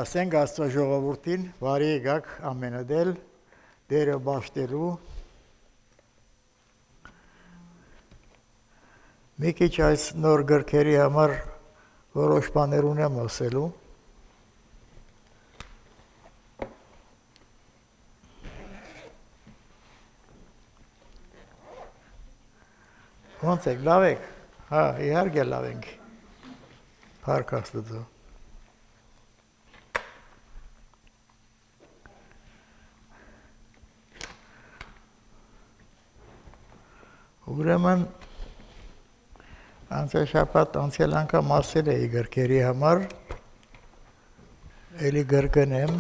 Ասենք Աստծո ժողովրդին, բարի եկաք ամենադել, դերը բաշտելու, մի քիչ այս նոր գրքերի համար որոշ բաներ ունեմ ասելու, ոնց եք, լավ եք, հա, իհարկե լավ ենք, փառք Աստծո. Ուրեմն անցաշաբաթ անցյալ անգամ ասել էի գրքերի համար, էլի գրկնեմ,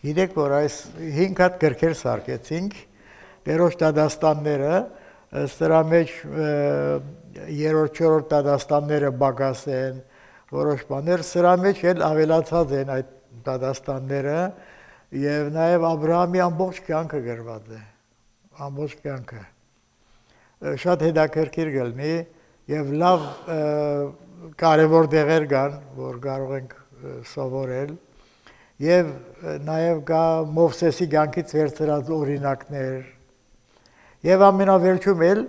գիտեք, որ այս 5 հատ գրքեր սարքեցինք, երրորդ դադաստանները, սրա մեջ 3-4 դադաստանները բագաս են, որոշ բաներ, սրա մեջ էլ ավելացած են այդ դադաստանները, և նաև Աբրահամի ամբողջ կյանքը գրված է, ամբողջ կյանքը, շատ հետաքրքիր կլինի և լավ կարևոր տեղեր կան, որ կարող ենք սովորել, և նաև կա Մովսեսի կյանքից վերցրած օրինակներ, և ամենավերջում էլ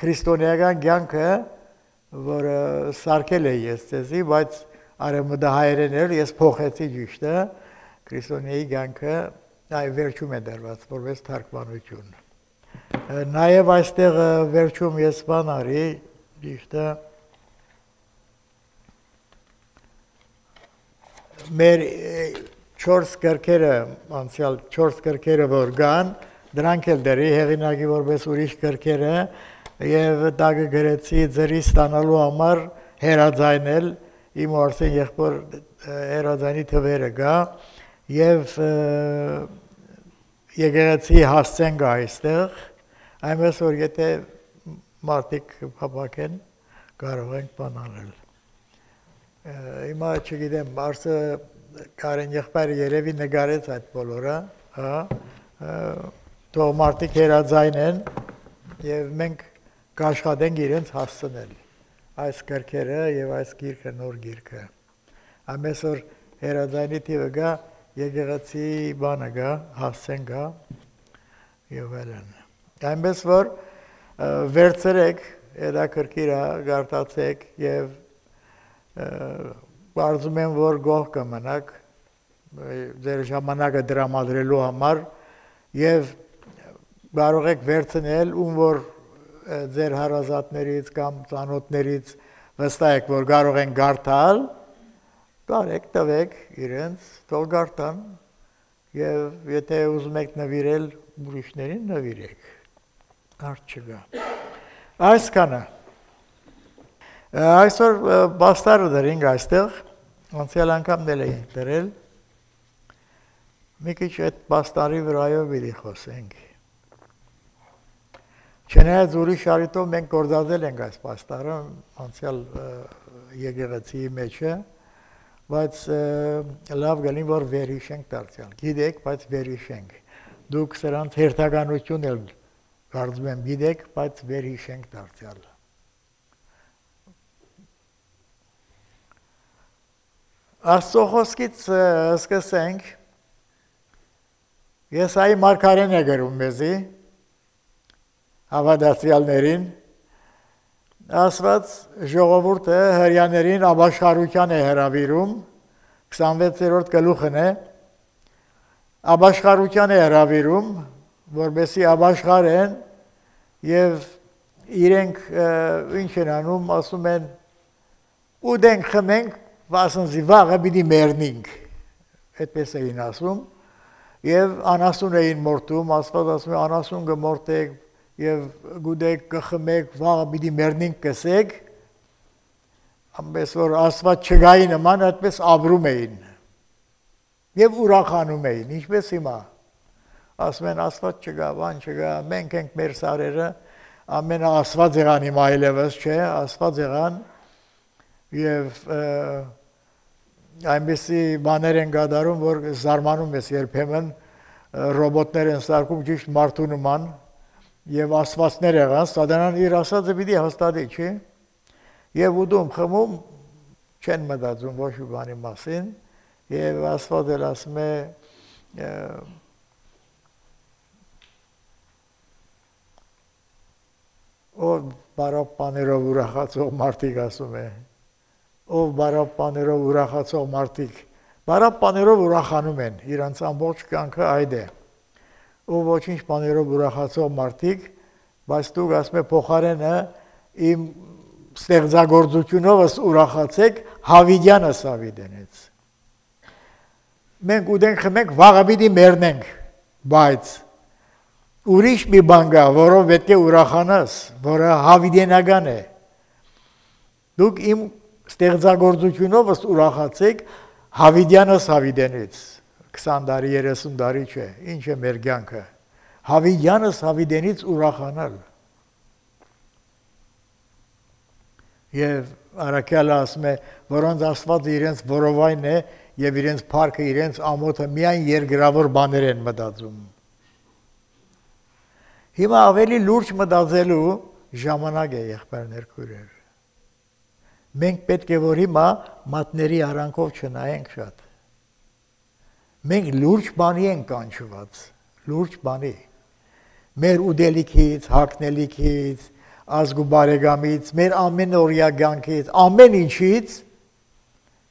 քրիստոնեական կյանքը, որը սարքել էի ես ձեզի, բայց արևմտահայերեն էլ ես փոխեցի ճիշտը, քրիստոնեի կյանքը վերջում է դրված, որպես թարգմանություն։ Նաև այստեղ վերջում ես բան արի, ճիշտը, մեր 4 գրքերը, անցյալ 4 գրքերը որ կան, դրանք էլ դրի հեղինակի որպես ուրիշ գրքերը, և տակը գրեցի ձրի ստանալու համար հերաձայնել, իմ ու Արսեն եղբոր հերաձայնի թվերը կա, և եկեղեցի հասցեն կա այստեղ, այնպես որ եթե մարդիկ փափագեն, կարող ենք բան անել։ Հիմա չգիտեմ, Արսը Կարեն եղբայրը երևի նկարեց այդ բոլորը, թող մարդիկ հերաձայնեն և մենք կաշխատենք իրենց հասցնել այս գրքերը և այս գիրքը, նոր գիրքը։ Այնպես որ հերաձայնի թիվը կա, եկեղեցի բանը կա, հասցեն կա և այլն։ Այնպես որ վերցրեք, հետաքրքիր է, կարդացեք և կարծում եմ, որ գոհ կմնաք ձեր ժամանակը տրամադրելու համար և կարող եք վերցնել, ում որ ձեր հարազատներից կամ ծանոթներից վստահ եք, որ կարող են կարդալ, կարեք, տվեք իրենց, թող կարդան և եթե ուզում եք նվիրել ուրիշներին, նվիրեք, հարց չկա։ Այսքանը, այսօր պաստառը դրինք այստեղ, անցյալ անգամ էլ էինք դրել, մի քիչ այդ պաստառի վրայով պիտի խոսենք։ Չնայած ուրիշ առիթով մենք գործածել ենք այս պաստառը անցյալ եկեղեցիի մեջը, բայց լավ գալին, որ վերհիշենք դարձյալ, գիտեք, բայց վերհիշենք, դուք սրանց հերթականություն էլ կարծում եմ գիտեք, բայց վերհիշենք դարձյալ։ Աստծո խոսքից սկսենք, Եսայի մարգարեն է գրում մեզի, հավատացյալներին, ասված ժողովուրդը հրեաներին ապաշխարության է հրավիրում, 26-րդ գլուխն է, ապաշխարության է հրավիրում, որպեսզի ապաշխարեն և իրենք ինչ են անում, ասում են ուտենք, խմենք, վասնզի վաղը պիտի մեռնինք, այդպես էին ասում, և անասուն էին մորտում, Աստված ասում է անասուն կմորտեք և գուդեք կխմեք, վաղը պիտի մեռնինք կսեք, ամպես որ Աստված չգայի նման, այդպես ապրում էին և ուրախանում էին, ինչպես հիմա, ասում են Աստված չգա, բան չգա, մենք ենք մեր սարերը, ամենը Աստված եղան հիմա այլևս չէ, Աստված եղան և այնպեսի բաներ են կատարում, որ զարմանում ես երբեմն ռոբոտներ են սարքում ճիշտ մարդու նման և աստվածներ եղան, սատանան իր ասածը պիտի հաստատի, չի, և ուտում խմում չեն մտածում ոչ մի բանի մասին և Աստված էլ ասում է ով բարով բաներով ուրախացող մարդիկ ասում է, ով բարով բաներով ուրախացող մարդիկ, բարով բաներով ուրախանում են, իրանց ամբողջ կյանքը այդ է, ով ոչինչ բաներով ուրախացող մարդիկ, բայց դուք ասում է փոխարենը իմ ստեղծագործությունովս ուրախացեք Հավիդյանս Հավիդենից։ Մենք ուտենք խմենք վաղը պիտի մեռնենք, բայց ուրիշ մի բան կա, որով պետք է ուրախանաս, որը հավիդենական է։ Դուք իմ ստեղծագործությունովս ուրախացեք Հավիդյանս Հավիդենից, 20 տարի, 30 տարի չէ, ինչ է մեր կյանքը, Հավիդյանս Հավիդենից ուրախանալ։ Եվ Առաքյալը ասում է, որոնց Աստվածը իրենց որովայն է և իրենց փառքը, իրենց ամոթը միայն երկրավոր բաներ են մտածում։ Հիմա ավելի լուրջ մտածելու ժամանակ է, եղբայրներ, քույրեր։ Մենք պետք է որ հիմա մատների արանքով չնայենք շատ։ Մենք լուրջ բանի ենք կանչված, լուրջ բանի։ Մեր ուդելիքից, հագնելիքից, ազգ ու բարեկամից, մեր ամենօրյա կյանքից, ամեն ինչից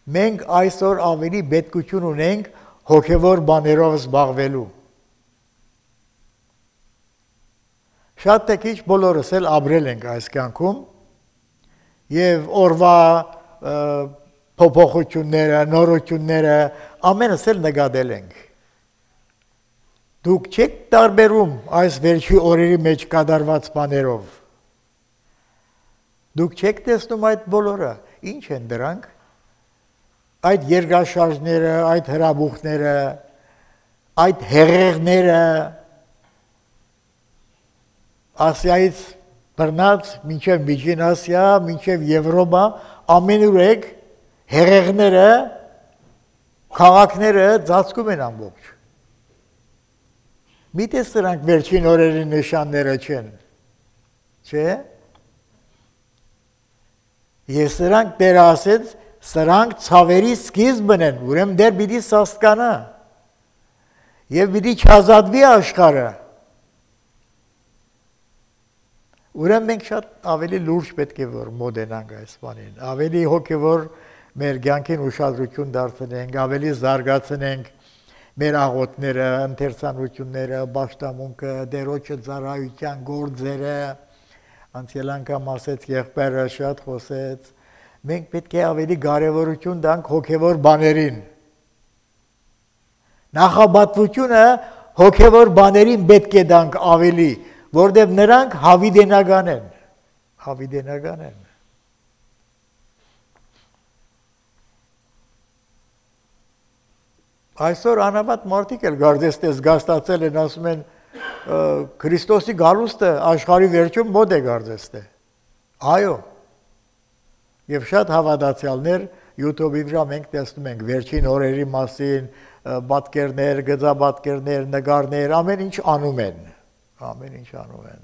մենք այսօր ավելի պետքություն ունենք հոգևոր բաներով զբաղվելու։ Շատ թե քիչ բոլորս էլ ապրել ենք այս կյանքում և օրվա փոփոխությունները, նորությունները ամենս էլ նկատել ենք։ Դուք չեք տարբերում այս վերջի օրերի մեջ կատարված բաներով։ Դուք չեք տեսնում այդ բոլորը, ինչ են դրանք, այդ երկրաշարժները, այդ հրաբուխները, այդ հեղեղները, Ասիայից բռնած, մինչև Միջին Ասիա, մինչև Եվրոպա, ամենուր եք հեղեղները, քաղաքները ծածկում են ամբողջ։ Միտես սրանք վերջին օրերի նշանները չեն, չէ՞։ Եվ սրանք Տերը ասեց, սրանք ցավերի սկիզբն են, ուրեմն դեռ պիտի սաստկանա և պիտի չազատվի աշխարհը։ Ուրեմն մենք շատ ավելի լուրջ պետք է որ մոտենանք այս բանին, ավելի հոգևոր մեր կյանքին ուշադրություն դարձնենք, ավելի զարգացնենք մեր աղոթները, ընթերցանությունները, պաշտամունքը, Տերոջը ծառայության գործերը, անցյալ անգամ ասեց եղբայրը շատ խոսեց, մենք պետք է ավելի կարևորություն տանք հոգևոր բաներին։ Նախապատվությունը հոգևոր բաներին պետք է տանք ավելի, որտեղ նրանք հավիդենական են, հավիդենական են։ Այսօր անավատ մարդիկ էլ գարձես տես գաստացել են, ասում են Քրիստոսի գալուստը աշխարհի վերջում մոտ է գարձես տե։ Այո։ Եվ շատ հավատացյալներ YouTube-ի վրա մենք տեսնում ենք վերջին օրերի մասին, պատկերներ, գծապատկերներ, նկարներ, ամեն ինչ անում են, ամեն ինչ անում են։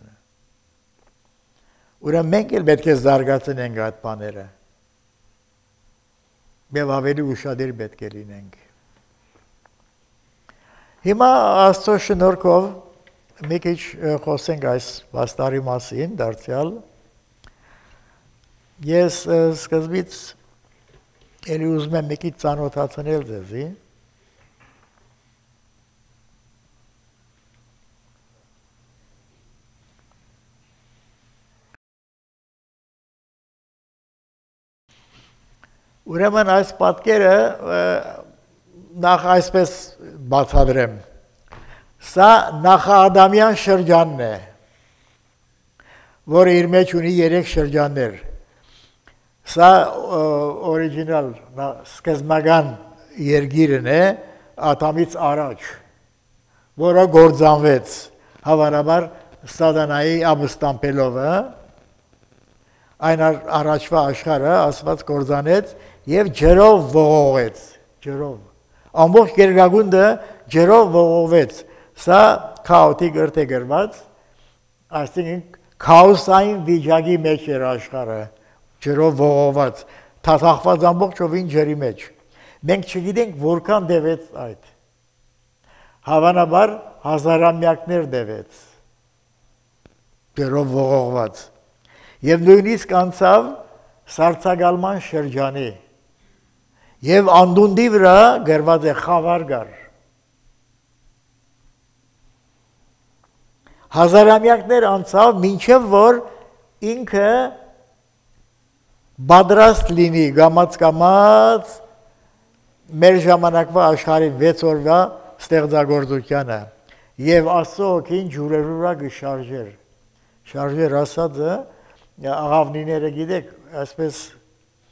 Ուրեմն մենք էլ պետք է զարգացնենք այդ բաները։ Եվ ավելի ուշադիր պետք է լինենք։ Հիմա Աստծո շնորհքով մի քիչ խոսենք այս վաստարի մասին, դարձյալ։ Ես սկզբից էլի ուզում եմ մի քիչ ծանոթացնել ձեզի։ Ուրեմն այս պատկերը նախ այսպես բացատրեմ։ Սա նախադամյան շրջանն է, որը իր մեջ ունի 3 շրջաններ։ Սա օրիջինալ սկզբնական երգիրն է Ադամից առաջ, որը գործանվեց հավանաբար Սատանայի ապստամբելով, այն առաջվա աշխարհը Աստված գործանեց եւ ջրով ողողեց, ջրով։ Ամբողջ երկրագունդը ջրով ողողվեց։ Սա քաոտիկ գրթե գրված, այսինքն քաոսային վիճակի մեջ էր աշխարհը, ջրով ողողված, թաթախված ամբողջովին ջրի մեջ։ Մենք չգիտենք որքան դեվեց այդ։ Հավանաբար հազարամյակներ դեվեց, ջրով ողողված։ Եվ նույնիսկ անցավ սառցակալման շրջանի։ Եվ անդունդի վրա գրված է խավար կար։ Հազարամյակներ անցավ, մինչև որ ինքը պատրաստ լինի գամած մեր ժամանակվա աշխարհի 6 օրվա ստեղծագործությանը եւ Աստծո հոգին ջուրերու վրա գշարժեր։ Շարժեր ասածը աղավնիները գիտեք, այսպես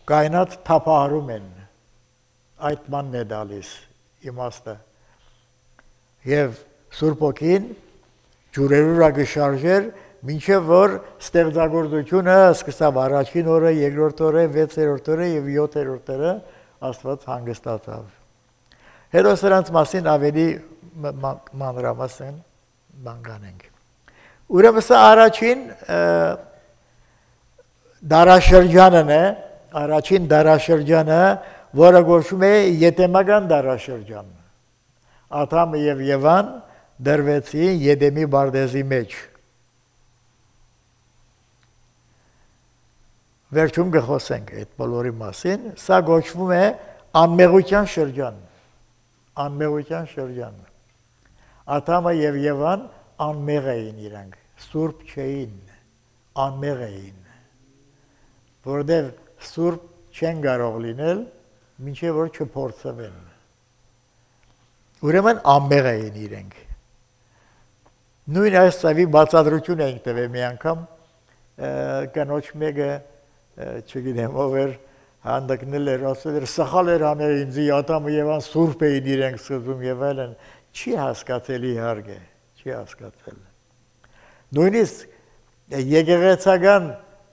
կայնած թափահարում են։ Այդ մանն է դալիս իմաստը։ Եվ Սուրբ Հոգին ջուրերու վրա գշարժեր, մինչև որ ստեղծագործությունը սկսավ առաջին օրը, երկրորդ օրը, 6-րդ օրը եւ 7-րդ օրը Աստված հանգստացավ։ Հետո սրանց մասին ավելի մանրամասն բան կանենք։ Ուրեմն սա առաջին դարաշրջանն է, առաջին դարաշրջանը, որը կոչվում է Եդեմական դարաշրջան։ Ադամը եւ Եվան դրվեցին Եդեմի բարձեզի մեջ։ Վերջում կխոսենք այդ բոլորի մասին, սա կոչվում է անմեղության շրջան։ Անմեղության շրջան։ Ադամը եւ Եվան անմեղ էին իրանք, սուրբ չէին, անմեղ էին, որովհետև սուրբ չեն կարող լինել, մինչև որ չփորձվեն։ Ուրեմն անմեղ էին իրենք։ Նույն այս ծավի բացատրություն ենք տվել մի անգամ, կնոջ մեկը, չգիտեմ ով էր, հանդգնել էր, ասել էր, սխալ էր անել ինձի, Ադամը Եվան սուրբ էին իրենք սկզբում եւ այլն, չի հասկացել իհարկե, չի հասկացել։ Նույնիսկ եկեղեցական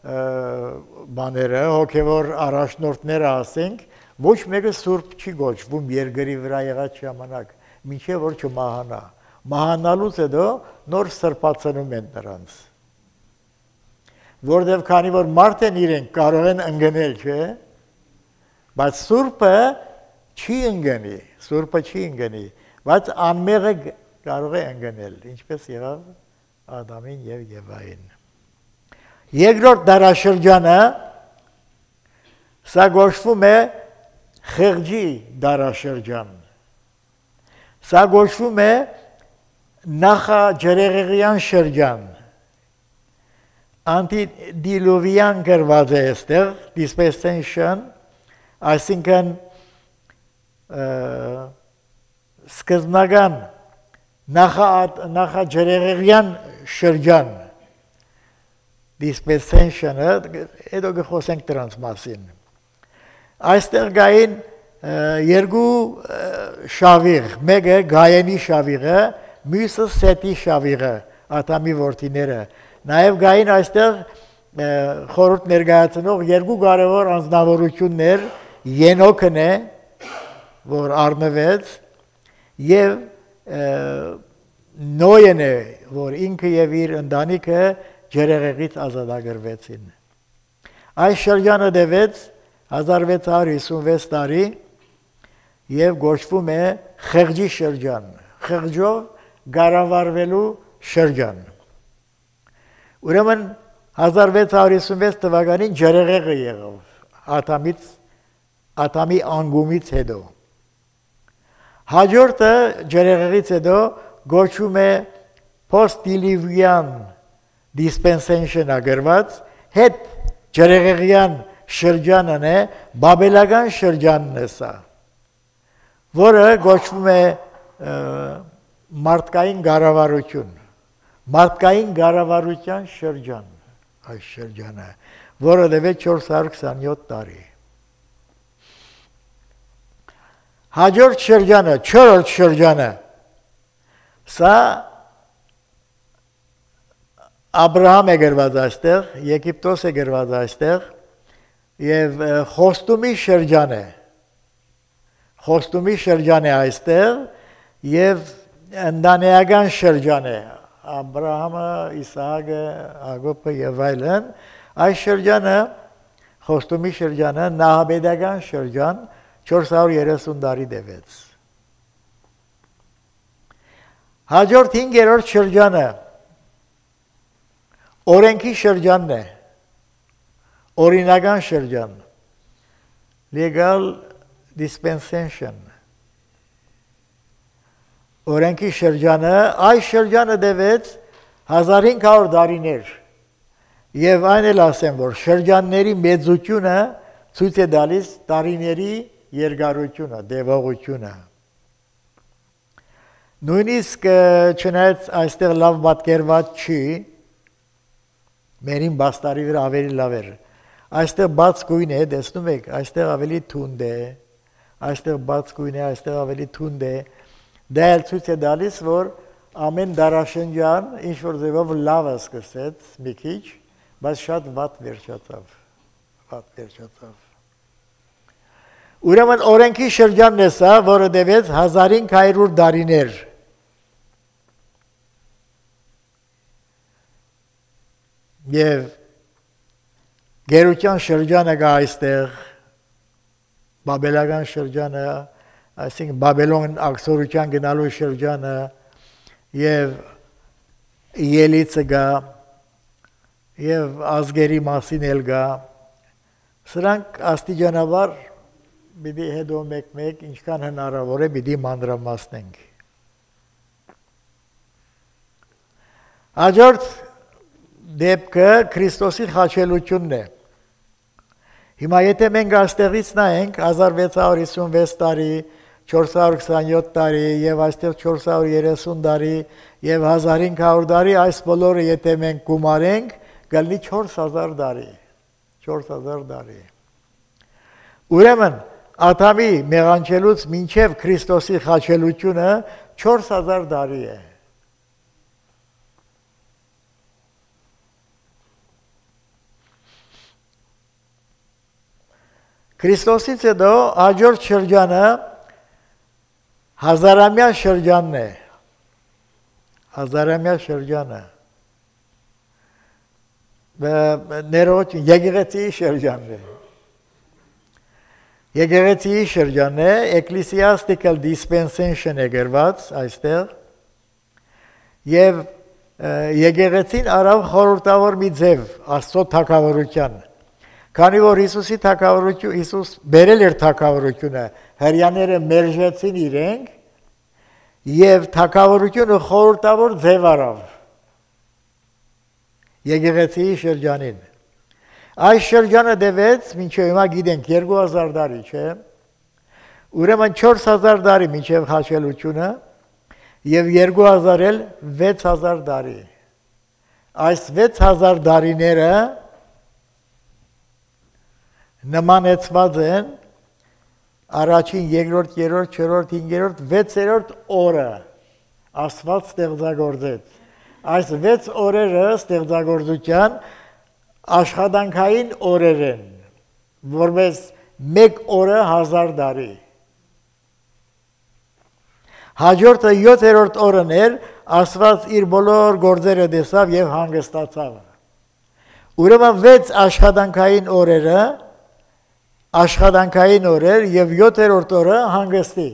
բաները, հոգևոր առաջնորդները ասենք, ոչ մեկը սուրբ չի գոչվում երկրի վրա եղած ժամանակ, մինչև որ չմահանա։ Մահանալուց հետո նոր սրբացնում են նրանց։ Որտեւ քանի որ մարդ են իրենք կարող են ընկնել, չէ՞, բայց սուրբը չի ընկնի, սուրբը չի ընկնի, բայց անմեղը կարող է ընկնել, ինչպես եղավ Ադամին եւ Եվային։ Երկրորդ դարաշրջանը սա գոչվում է խեղճի դարաշրջան։ Սա գոչվում է նախաջրեղեղյան շրջան։ Antediluvian գրված է այստեղ, dispensation, այսինքն սկզբնական նախաջրեղեղյան շրջան, dispensation-ը, հետո կխոսենք դրանց մասին։ Այստեղ գային երկու շավիղ, մեկը Գայենի շավիղը, մյուսը Սեթի շավիղը, Ադամի որդիները։ Նաև գային այստեղ խորհուրդ ներկայացնող երկու կարևոր անձնավորություններ, Ենոքն է, որ առնվեց, եւ Նոյն է, որ ինքը եւ իր ընտանիքը ջրեղեղից ազատագրվեցին։ Այս շրջանը տևեց 1656 տարի եւ գոչվում է խեղճի շրջան, խեղճով գարավարվելու շրջան։ Ուրեմն 1656 թվականին ջրեղեղը եղավ Ադամի անգումից հետո։ Հաջորդը ջրեղեղից հետո գոչվում է post-diluvian dispensation ագրված, հետ ջրեղեղյան շրջանն է, բաբելական շրջանն է սա, որը գոչվում է մարդկային կառավարություն, մարդկային կառավարության շրջան, այս շրջանը, որը տևեց 427 տարի։ Հաջորդ շրջանը, չորրորդ շրջանը, սա Աբրահամ է գրված այստեղ, Եգիպտոս է գրված այստեղ, եւ խոստումի շրջան է։ Խոստումի շրջան է այստեղ եւ ընտանեկան շրջան է։ Աբրահամը, Իսահակը, Հակոբը եւ այլն, այս շրջանը, խոստումի շրջանը, նահաբեդական շրջան 430 տարի տևեց։ Հաջորդ 5-րդ շրջանը օրենքի շրջանն է, օրինական շրջան, legal dispensation, օրենքի շրջանը, այս շրջանը տևեց 1500 տարիներ, եւ այն էլ ասեմ, որ շրջանների մեծությունը ցույց է տալիս տարիների երկարությունը, տևողությունը։ Նույնիսկ չնայած այստեղ լավ պատկերված չի, մերին բաստարի վրա ավելի լավ էր։ Այստեղ բաց գույն է, տեսնում եք, այստեղ ավելի թունդ է, այստեղ բաց գույն է, այստեղ ավելի թունդ է։ Դա էլ ցույց է տալիս, որ ամեն դարաշրջան ինչ որ ձևով լավ է սկսեց մի քիչ, բայց շատ վատ վերջացավ։ Ուրեմն օրենքի շրջանն է սա, որը տևեց 1500 տարիներ։ Եվ գերության շրջանը կա այստեղ, բաբելական շրջանը, այսինքն Բաբելոն աքսորության գնալու շրջանը եւ ելիցը կա եւ ազգերի մասին էլ կա։ Սրանք աստիճանաբար պիտի հետո մեկ-մեկ ինչքան հնարավոր է պիտի մանրամասնենք։ Հաջորդ դեպքը Քրիստոսի խաչելությունն է։ Հիմա եթե մենք այստեղից նայենք 1656 տարի, 427 տարի եւ այստեղ 430 տարի եւ 1500 տարի, այս բոլորը եթե մենք գումարենք, կլինի 4000 տարի։ 4000 տարի։ Ուրեմն Ադամի մեղանչելուց մինչև Քրիստոսի խաչելությունը 4000 տարի է։ Քրիստոսից հետո հաջորդ շրջանը հազարամյա շրջանն է։ Հազարամյա շրջանը։ Ներողություն, եկեղեցիի շրջանն է։ Եկեղեցիի շրջանն է, ecclesiastical dispensation է գրված այստեղ, եւ եկեղեցին արավ խորհրդավոր մի ձև Աստծո թագավորության, քանի որ Հիսուսի թագավորություն, Հիսուս բերել էր թագավորությունը, հրյաները մերժեցին իրենք եւ թագավորությունը խորհրդավոր ձև արավ եկեղեցիի շրջանին։ Այս շրջանը տևեց, մինչև հիմա գիտենք 2000 տարի, չէ՞։ Ուրեմն 4000 տարի մինչև խաչելությունը եւ 2000 էլ 6000 տարի։ Այս 6000 տարիները նմանեցված են առաջին, երկրորդ, երրորդ, չորրորդ, հինգերորդ, 6-րդ օրը Աստված ստեղծագործեց։ Այս 6 օրերը ստեղծագործության աշխատանքային օրեր են, որպես մեկ օրը 1000 տարի։ Հաջորդը 7-րդ օրն էր, Աստված իր բոլոր գործերը տեսավ եւ հանգստացավ։ Ուրեմն 6 աշխատանքային օրերը, աշխատանքային օրեր եւ 7-րդ օրը հանգստի։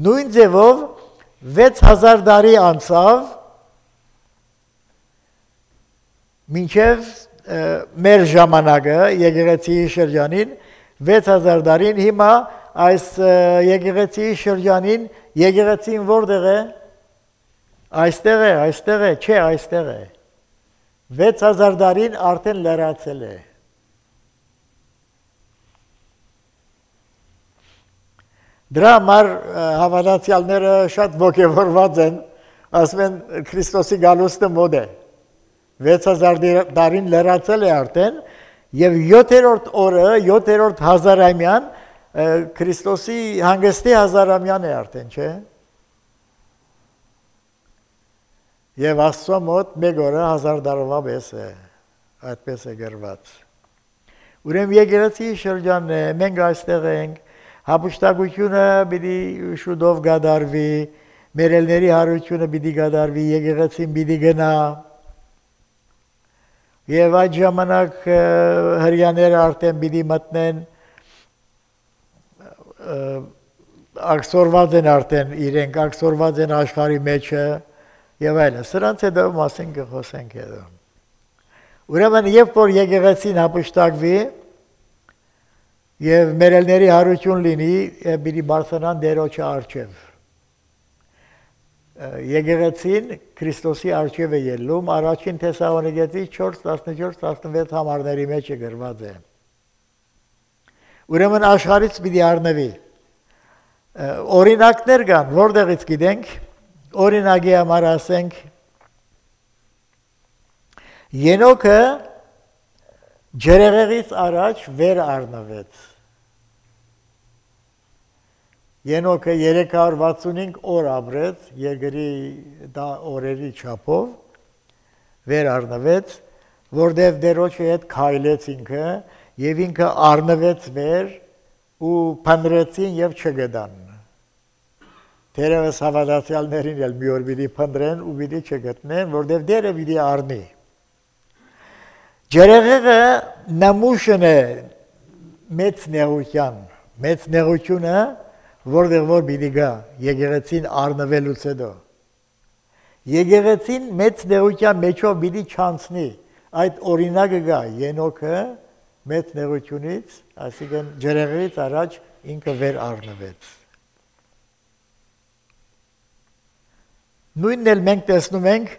Նույն ձևով 6000 տարի անցավ մինչև մեր ժամանակը եկեղեցիի շրջանին 6000 տարին հիմա այս եկեղեցիի շրջանին եկեղեցին որտեղ է այստեղ է չէ այստեղ է 6000 տարին արդեն լրացել է Դրա համար հավատացյալները շատ ոգևորված են, ասում են Քրիստոսի գալուստը մոտ է։ 6000 տարին լրացել է արդեն եւ 7-րդ օրը, 7-րդ հազարամյան Քրիստոսի հանգստի հազարամյան է արդեն, չէ՞։ Եվ Աստծո մոտ մեկ օրը 1000 տարվա պես է, այդպես է գրված։ Ուրեմն եկեղեցի շրջանն է, մենք այստեղ ենք, հապուստակությունը պիտի շուտով գադարվի, մերելների հարությունը պիտի գադարվի, եկեղեցին պիտի գնա։ Եվ այդ ժամանակ հրյաները արդեն պիտի մտնեն, ակսորված են արդեն իրենք, ակսորված են աշխարհի մեջը եւ այլն։ Սրանց հետո մասին կխոսենք հետո։ Ուրեմն երբ որ եկեղեցին հապուստակվի եւ մերելների հարություն լինի, պիտի բարձրանան Տերոջի առջև։ Եկեղեցին Քրիստոսի առջև է ելնում, առաջին Թեսաղոնիկեցի 4:14-16 համարների մեջ է գրված է։ Ուրեմն աշխարհից պիտի առնվի։ Օրինակներ կան, որտեղից գիտենք, օրինակի համար ասենք Ենոքը ջրեղեղից առաջ վեր առնվեց։ Ենոքը 365 օր ապրեց երկրի օրերի չափով, վեր առնվեց, որտեղ Տերոջի հետ քայլեց ինքը, եւ ինքը առնվեց վեր ու փնտրեցին եւ չգտան։ Թերևս հավատացյալներին էլ մի օր պիտի փնտրեն ու պիտի չգտնեն, որտեղ Տերը պիտի առնի։ Ջրեղեղը նամուշն է մեծ նեղությունը, որտեղ որ պիտի գա եկեղեցին առնվելուց հետո։ Եկեղեցին մեծ նեղության մեջով պիտի չանցնի, այդ օրինակը գա Ենոքը մեծ նեղությունից, այսինքն ջրեղեղից առաջ ինքը վեր առնվեց։ Նույնն էլ մենք տեսնում ենք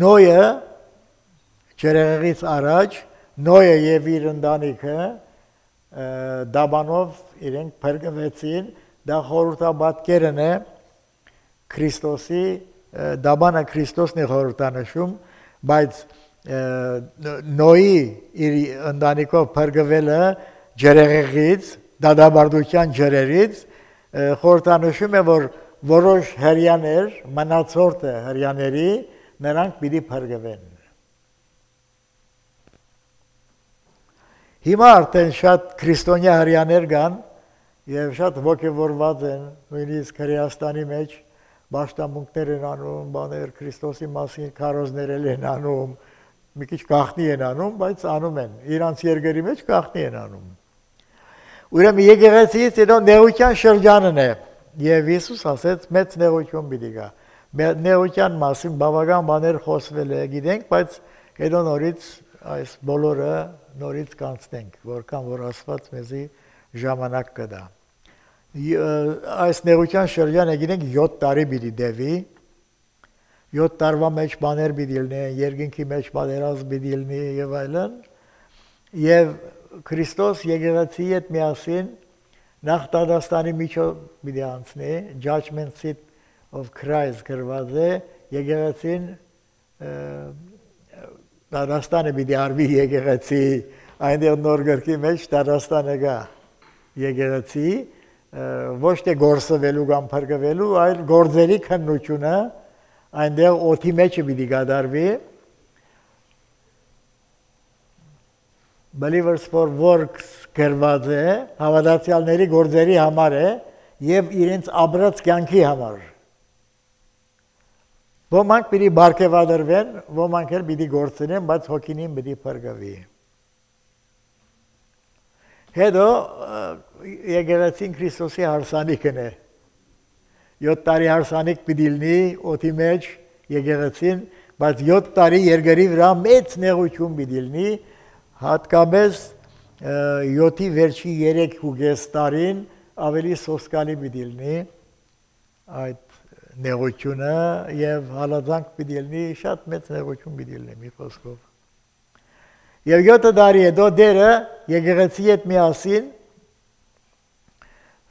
Նոյը ջրեղեղից առաջ Նոյը եւ իր ընտանիքը դաբանով իրենք փրկվեցին, դա խորհրդաբատկերն է Քրիստոսի, դաբանը Քրիստոսն է խորհրդանշում, բայց Նոյի իր ընտանիքով փրկվելը ջրեղեղից, դադարության ջրերից խորհրդանշում է, որ որոշ հрьяաներ, մնացորդը հрьяաների նրանք պիտի փրկվեն։ Հիմա արդեն շատ քրիստոնյա հрьяաներ կան եւ շատ ոգևորված են, նույնիսկ Հայաստանի մեջ բաշտամունքներ են անում, բաներ Քրիստոսի մասին քարոզներ են անում, մի քիչ գաղտնի են անում, բայց անում են, իրանց երկրի մեջ գաղտնի են անում։ Ուրեմն եկեղեցիից հետո նեղության շրջանն է եւ Հիսուս ասեց մեծ նեղություն պիտի գա։ Նեղության մասին բավական բաներ խոսվել է, գիտենք, բայց հետո նորից այս բոլորը նորից կանցնենք, որքան որ Աստված մեզի ժամանակ կտա։ Այս նեղության շրջանը գիտենք 7 տարի պիտի դեվի, 7 տարվա մեջ բաներ պիտի լինեն, երկինքի մեջ պատերազմ պիտի լինի եւ այլն, եւ Քրիստոս եկեղեցի հետ միասին նախ Դադաստանի միջով պիտի անցնի, judgment seat of Christ գրված է, եկեղեցին Դադաստանը պիտի արվի եկեղեցի, այնտեղ նոր գրքի մեջ Դադաստանը գա եկեղեցի, ոչ թե գործվելու կամ փրկվելու, այլ գործերի քննությունը այնտեղ օդի մեջ պիտի գդարվի։ Believers for works գրված է, հավատացյալների գործերի համար է եւ իրենց ապրած կյանքի համար։ Ոմանք պիտի բարգեւադրվեն, ոմանք էլ պիտի գործենեն, բայց հոգին պիտի փրկվի։ Հետո եկեղեցին Քրիստոսի հարսանիքն է։ 7 տարի հարսանիք պիտի լինի օդի մեջ եկեղեցին, բայց 7 տարի երկրի վրա մեծ նեղություն պիտի լինի, հատկապես 7-ի վերջի 3.5 տարին ավելի սոսկալի պիտի լինի այդ նեղությունը եւ հալածանք պիտի լինի, շատ մեծ նեղություն պիտի լինի մի խոսքով։ Եվ 7 տարի հետո դերը եկեղեցի հետ միասին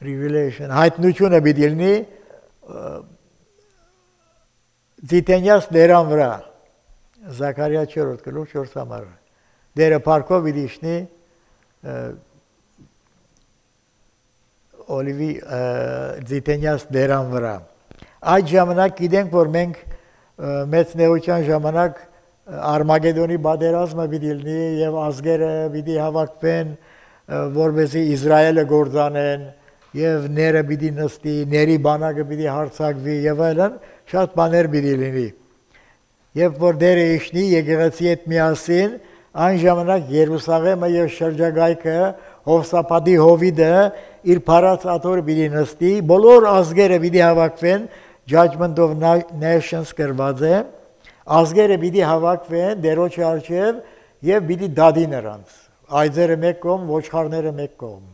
revelation հայտնությունը պիտի լինի Ձիթենյաց դերան վրա Զաքարիա 4 գլուխ 4 համար դերը парքով պիտի իջնի Օլիվի Ձիթենյաց դերան վրա այդ ժամանակ գիտենք որ մենք մեծ նեղության ժամանակ Արմագեդոնի պատերազմը պիտի լինի եւ ազգերը պիտի հավաքվեն որպեսզի Իսրայելը գործանեն եւ ները պիտի նստի ների բանակը պիտի հարձակվի եւ այլն շատ բաներ պիտի լինի երբ որ դերը իջնի եկեղեցի հետ միասին այն ժամանակ Երուսաղեմը եւ շրջագայքը Հովսապատի Հովիդը իր փառած աթոռը պիտի նստի բոլոր ազգերը պիտի հավաքվեն Judgment of Nations գրված է ազգերը պիտի հավաքվեն դերոջի առջև եւ պիտի դադի նրանց այծերը մեկ կողմ ոչխարները մեկ կողմ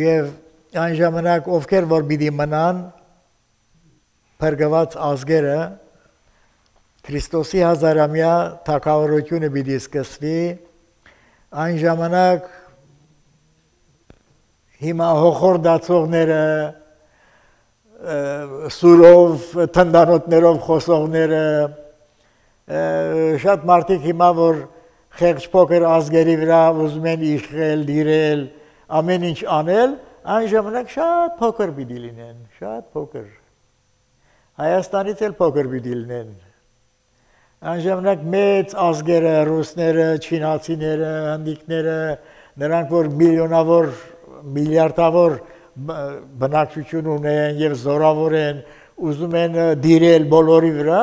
եւ այն ժամանակ ովքեր որ պիտի մնան փրկված ազգերը Քրիստոսի հազարամյա թագավորությունը պիտի սկսվի այն ժամանակ հիմա հոխորդացողները սուրով թնդանոթներով խոսողները շատ մարդիկ հիմա որ խեղճ փոքր ազգերի վրա ուզում են իշխել, դիրել, ամեն ինչ անել, այն ժամանակ շատ փոքր պիտի լինեն, շատ փոքր։ Հայաստանից էլ փոքր պիտի լինեն։ Այն ժամանակ մեծ ազգերը, ռուսները, չինացիները, հնդիկները, նրանք որ միլիոնավոր, միլիարդավոր բնակչություն ունեն եւ զորավոր են, ուզում են դիրել բոլորի վրա,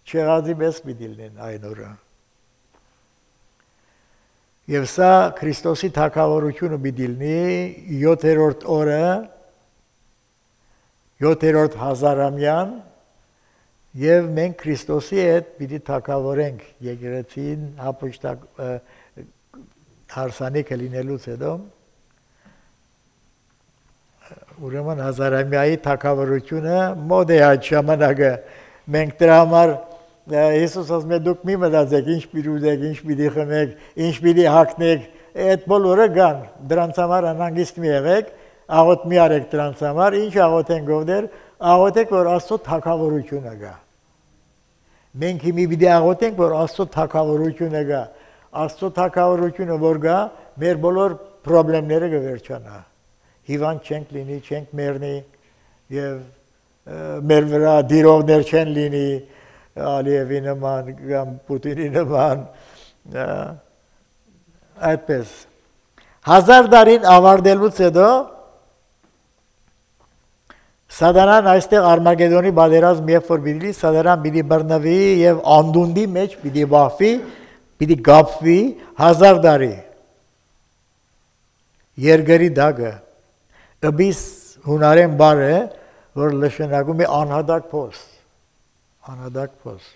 չեղածի պես պիտի լինեն այն օրը։ Եվ սա Քրիստոսի թագավորությունը պիտի լինի 7-րդ օրը, 7-րդ հազարամյան, եւ մենք Քրիստոսի հետ պիտի թագավորենք եկեղեցին հապուստակ հարսանիքը լինելուց հետո ուրեմն հազարամյայի թագավորությունը մոտ է այդ ժամանակը մենք դրա համար Հիսուս ասում է դուք մի մտածեք ինչ պիտի ուզեք, ինչ պիտի խմեք, ինչ պիտի հագնեք, այդ բոլորը կան, դրանց համար անհանգիստ մի եղեք, աղոթ մի արեք դրանց համար, ինչ աղոթենք ովներ, աղոթեք որ Աստծո թագավորությունը գա։ Մենք հիմի պիտի աղոթենք որ Աստծո թագավորությունը գա, Աստծո թագավորությունը որ գա, մեր բոլոր խնդիրները կվերջանա։ Հիվանդ չենք լինի, չենք մեռնի եւ մեր վրա դիրողներ չեն լինի, Ալիևի նման, կամ Պուտինի նման, այդպես։ 1000 տարին ավարտելուց հետո Սատանան այստեղ Արմագեդոնի պատերազմ երբ որ պիտի լինի, Սատանան պիտի բռնվի եւ անդունդի մեջ պիտի բախվի, պիտի գապվի 1000 տարի։ Երկրի դագը, ըբիս հունարեն բառ է, որ նշանակում է անհադակ փոս, անհադակ փոս։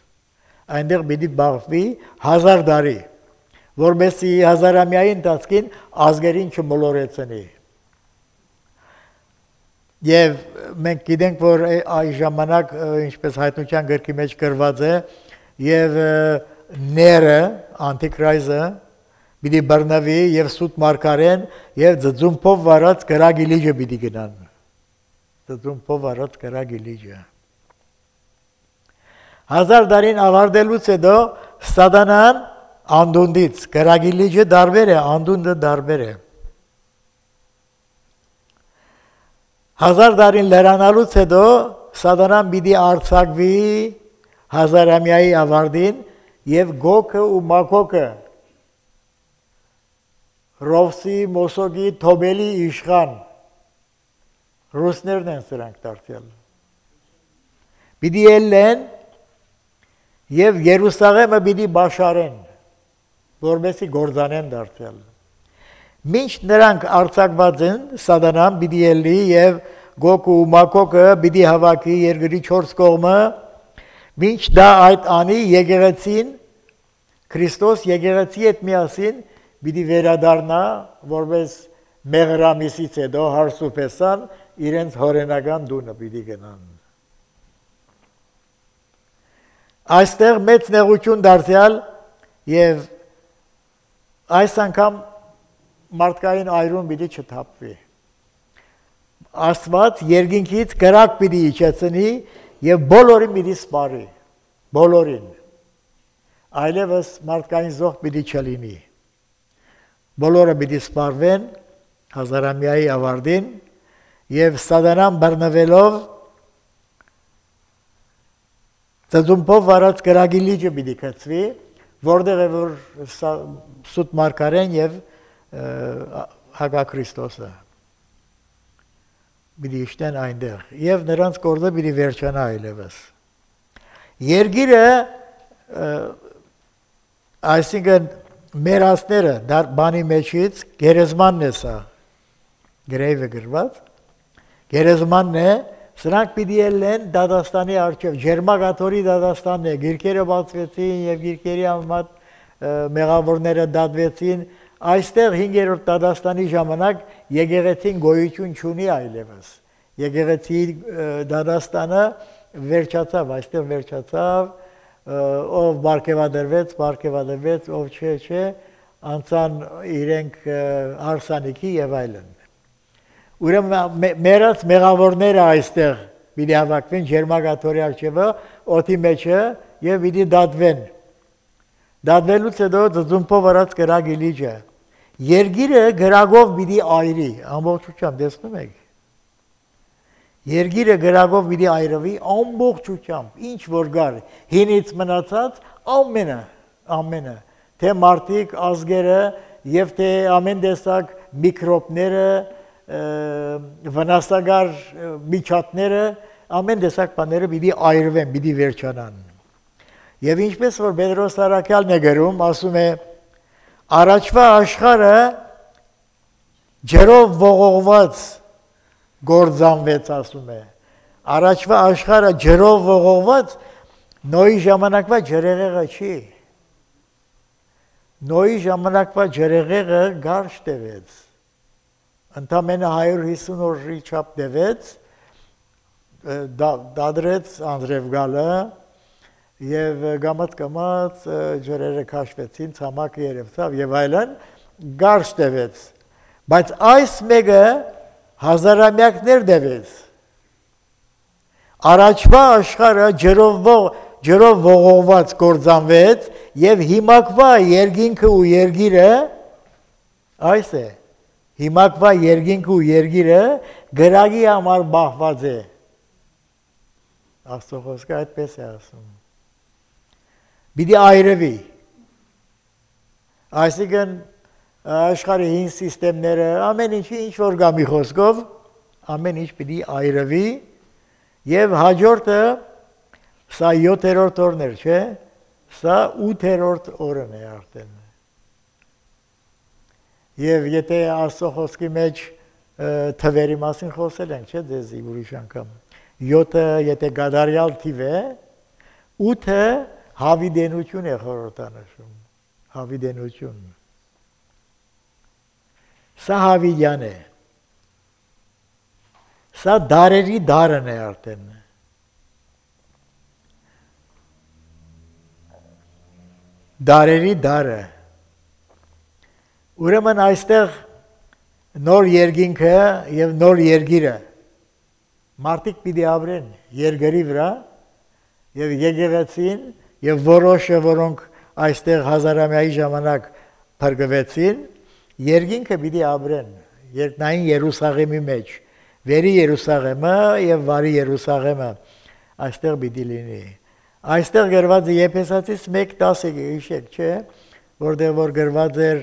Այնտեղ պիտի բախվի 1000 տարի, որովհետեւ հազարամյայի ընթացքին ազգերին չմոլորեցնի։ Եվ մենք գիտենք, որ այս ժամանակ, ինչպես հայտնության գրքի մեջ գրված է, եւ ները, անտիկրայզը, պիտի բռնվի եւ սուտ մարգարեն եւ ձձումփով վարած գրագի լիճը պիտի գնան։ Ձձումփով վարած գրագի լիճը։ 1000 տարին ավարտելուց հետո Սատանան անդունդից գրագի լիճը դարբեր է, անդունդը դարբեր է։ 1000 տարին լրանալուց հետո Սատանան պիտի արձակվի հազարամյայի ավարտին եւ Գոգը ու Մագոգը Ռովսի, Մոսոգի, Թոբելի իշխան ռուսներն են սրանք դարձյալ։ Պիտի ելնեն եւ Երուսաղեմը պիտի բաշարեն, որովհետեւ գործանեն դարձյալ։ Մինչ նրանք արձակված են, Սատանան պիտի ելնի եւ Գոգը ու Մագոգը պիտի հավաքի երկրի 4 կողմը, մինչ դա այդ անի եկեղեցին Քրիստոս եկեղեցի հետ միասին պիտի վերադառնա, որպես մեղրամիսից հետո հարսուփեսան իրենց հորենական դունը պիտի գնան։ այստեղ մեծ նեղություն դարձյալ եւ այս անգամ մարդկային այրուն պիտի չթափվի։ Աստված երկինքից կրակ պիտի իջեցնի եւ բոլորին պիտի սպարի, բոլորին։ Այլևս մարդկային զոհ պիտի չլինի։ Բոլորը պիտի սպարվեն հազարամյայի ավարտին եւ սատանան բռնվելով ծծումբով վարած կրակի լիճը պիտի գցվի, որտեղ է որ սուտ մարգարեն եւ Հակաքրիստոսը պիտի իշտեն այնտեղ եւ նրանց կորձը պիտի վերջանա այլևս։ Երգիրը այսինքն մեր ասները բանի մեջից գերեզմանն է սա, գրեյվը գրված, գերեզմանն է, սրանք պիտի ելեն Դադաստանի առջև, Ջերմագաթորի Դադաստանն է, գիրքերը բացվեցին եւ գիրքերի համեմատ մեղավորները դատվեցին, այստեղ 5-րդ Դադաստանի ժամանակ եկեղեցին գոյություն չունի այլևս, եկեղեցի Դադաստանը վերջացավ, այստեղ վերջացավ, ով բարգեւադրվեց, ով չէ, անցան իրենք հարսանիքի եւ այլն։ Ուրեմն մերած մեղավորները այստեղ պիտի հավաքվեն Ջերմագաթորի առջևը, օդի մեջը եւ պիտի դատվեն։ Դատվելուց հետո ծծումբով վարած կրակի լիճը։ Երգիրը գրագով պիտի այրի, ամբողջությամբ տեսնում եք։ Երգիրը գրագով պիտի այրվի ամբողջությամբ, ինչ որ գար, հինից մնացած ամենը, թե մարդիկ, ազգերը եւ թե ամեն տեսակ միկրոբները, վնասագար միջատները, ամեն տեսակ բաները պիտի այրվեն, պիտի վերջանան։ Եվ ինչպես որ Պետրոս Արաքյալն է գրում, ասում է, առաջվա աշխարհը ջերով ողողված գործանվեց, ասում է։ Առաջվա աշխարհը ջերով ողողված, Նոյի ժամանակվա ջրեղեղը չի։ Նոյի ժամանակվա ջրեղեղը գարշ տևեց։ Ընդամենը 150 օրի չափ տևեց, դադրեց անձրև գալը, եւ գամած ջրերը քաշվեցին, ցամաքը երևցավ եւ այլն, գարշ տևեց։ Բայց այս մեկը հազարամյակներ տևեց։ Առաջվա աշխարհը ջրով ողողված կործանվեց եւ հիմակվա երկինքը ու երգիրը այս է։ Հիմակվա երկինքը ու երգիրը գրագի համար բախված է։ Աստծո խոսքը այդպես է ասում։ Պիտի այրվի։ Այսինքն աշխարհի հին սիստեմները, ամեն ինչ որ գա մի խոսքով, ամեն ինչ պիտի այրվի եւ հաջորդը սա 7-րդ օրն էր, չէ՞։ Սա 8-րդ օրն է արդեն։ Եվ եթե Աստծո խոսքի մեջ թվերի մասին խոսել ենք, չէ՞, դեզի ուրիշ անգամ։ 7-ը եթե գադարյալ թիվ է, 8-ը հավիդենություն է խորհրդանշում, հավիդենություն։ Սա հավիդյան է։ Սա դարերի դարն է արդեն։ Դարերի դարը։ Ուրեմն այստեղ նոր երկինքը եւ նոր երգիրը մարդիկ պիտի ապրեն երկրի վրա եւ եկեղեցին եւ որոշը, որոնք այստեղ հազարամյայի ժամանակ փրկվեցին, երկինքը պիտի ապրեն երկնային Երուսաղեմի մեջ, վերի Երուսաղեմը եւ վարի Երուսաղեմը այստեղ պիտի լինի։ Այստեղ գրված է Եփեսացիս 1:10-ը, հիշեք, չէ՞, որտեղ որ գրված էր